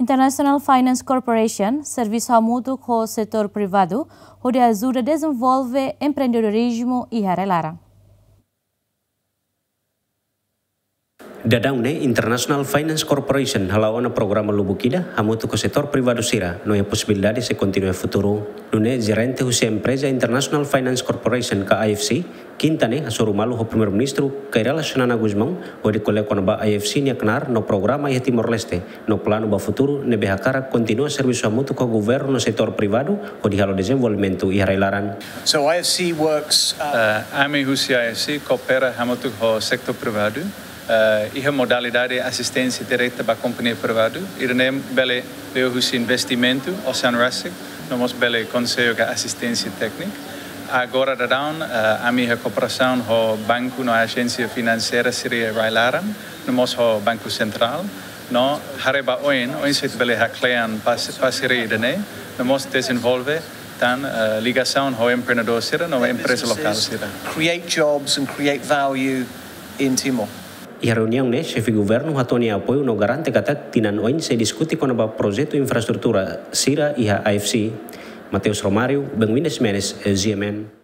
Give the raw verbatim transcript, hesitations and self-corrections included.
International Finance Corporation servisu hamutuk ho setór privadu hodi ajuda dezenvolve empreendedorizmu iha rai-laran. Daudaun ne'e International Finance Corporation hala'o ona programa lubuk ida hamutuk ho setór privadu sira no iha posibilidade sei kontinua iha futuru. Nune'e jerente husi empreza International Finance Corporation ka I F C, Kinta ne'e hasoru malu ho Primeiru-Ministru Kay Rala Xanana Gusmão hodi ko'alia kona-ba I F C nia knaar no programa iha Timor-Leste no planu ba futuru ne'ebé hakarak kontinua servisu hamutuk ho governu no setór privadu hodi halo dezenvolvimentu iha rai-laran. So I F C works. Uh, ami husi I F C koopera hamutuk ho setór privadu, uh, iha modalidade asisténsia direta ba kompañia privadu, ida-ne'e bele liuhusi investimentu, ocean rescue, no mós bele konsellu ka asisténsia téknika. Agora daudaun, uh, ami iha kooperasaun ho banku no ajénsia finanseira sira iha rai-laran, no mós ho Banku Sentrál, no haree ba oin, oinsá ita bele haklean pas-, parseria ida-ne'e, no mós dezenvolve tan, eh, ligasaun ho empreendedór sira no empreza lokál sira. Create jobs and create value in Timor. Iha reuniaun ne'e, xefe governu hato'o nia apoiu no garante katak tinan oin sei diskute kona-ba projetu infraestrutura sira iha I F C. Mateus Romário, Benguinda Ximenes, G M N.